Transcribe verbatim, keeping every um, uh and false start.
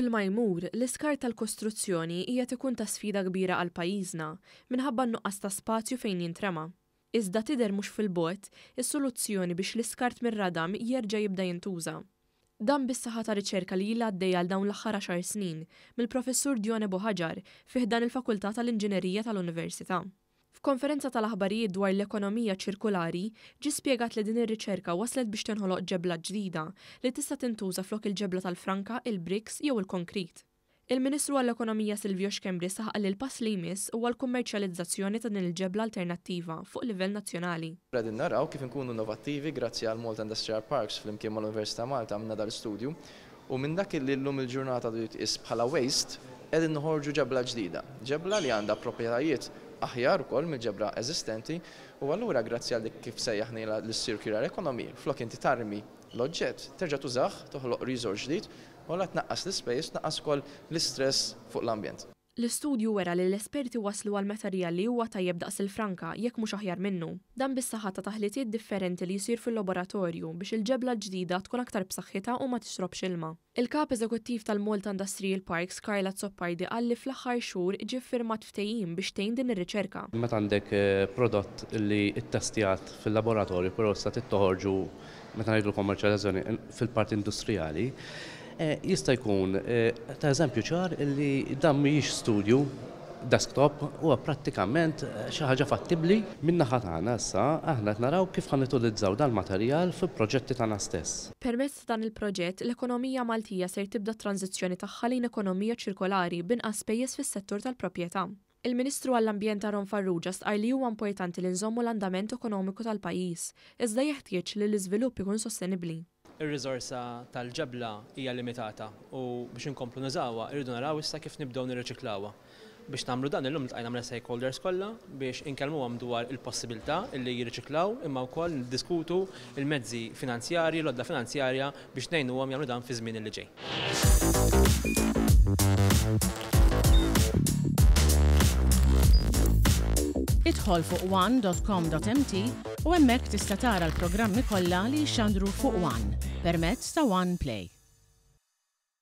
Kull ma jmur, l-iskart tal-kostruzzjoni qiegħed ikun ta' sfida kbira għal pajjiżna minħabba n-nuqqas ta' spazju fejn jintrema. Iżda tidher mhux fil-bogħod is-soluzzjoni biex l-iskart mir-radam jerġa' jibda jintuża. Dan bis-saħħa ta' riċerka li ilha għaddejja għal dawn l-aħħar għaxar snin mill-Professur Dione Buhagiar fi ħdan il-Fakultà tal-Inġinerija tal-Università. F'konferenza tal-aħbarijiet dwar l-ekonomija ċirkulari, ġie spjegat li din ir-riċerka waslet biex tinħoloq ġebla ġdida li tista' tintuża flok il-ġebla tal-franka, il-bricks jew il-konkrit. Il-Ministru għall-Ekonomija Silvio Schembri saħaq li l-pass li jmiss huwa l-kummerċjalizzazzjoni ta' din il-ġebla alternattiva fuq livell nazzjonali. Qegħdin naraw kif inkunu innovattivi. Grazzi għal Malta Industrial Parks flimkien mal-Università Malta għamilna dal-istudju u minn dak li llum il-ġurnata jitqies bħala waste qegħdin noħorġu ġebla ġdida. Ġebla li għandha proprjetajiet aħjar ukoll mill-ġebla eżistenti u allura, grazzi għal dik kif sejjaħna l-circular economy, flok inti tarmi l-oġġett, terġa' tużah, toħloq resource ġdid u la tnaqqas l-ispejjeż, tnaqqas ukoll l-istress fuq l-ambjent. L-istudju wera li l-esperti waslu għal materjal li huwa tajjeb daqs il-franka, jekk mhux aħjar minnu. Dan bis-saħħa ta' taħlitiet differenti li jsir fil-laboratorju biex il-ġebla ġdida tkun aktar b'saħħitha u ma tixrobx ilma. Il-kap eżekuttiv tal-Malta Industrial Parks, Karl Azzopardi, qal li fl-aħħar xhur ġie firmat ftehim biex tgħin din ir-riċerka. Meta għandek eh, prodott li ittestjat fil-laboratorju, però issa toħorġu, meta ngħidu kommerċjalizzazzjoni, fil-parti industrijali, Eh, jista' jkun eh, ta' eżempju ċar li dan mhijiex studju desktop, huwa prattikament eh, xi ħaġa fattibbli. Min-naħa tagħna issa aħna qed naraw kif ħa nutilizzaw dal-materjal fil-proġetti tagħna stess. Permezz ta' dan il-proġett, l-ekonomija Maltija ser tibda tranzizzjoni tagħha lejn ekonomija ċirkolari b'inqas spejjeż fis-settur tal-proprjetà. Il-Ministru għall-Ambjent Aaron Farrugia stqar li huwa importanti li nżommu l-andament ekonomiku tal-pajjiż, iżda jeħtieġ li l-iżvilupp ikun sostenibbli. Ir-riżorsa tal-ġebla hija limitata u biex inkomplu nużawha irridu naraw issa kif nibdew nirriċiklawha. Biex nagħmlu dan, illum iltqajna mal-stakeholders kollha biex inkellmuhom dwar il-possibilità li jirriċiklaw, imma wkoll niddiskutu il-mezzi finanzjarji, l-għodda finanzjarja biex ngħinuhom jagħmlu dan fi żmien li ġej. Idħol fuq one dot com dot M T u hemmhekk tista' tara l-programmi kollha li jxandru fuq One permezz ta' One Play.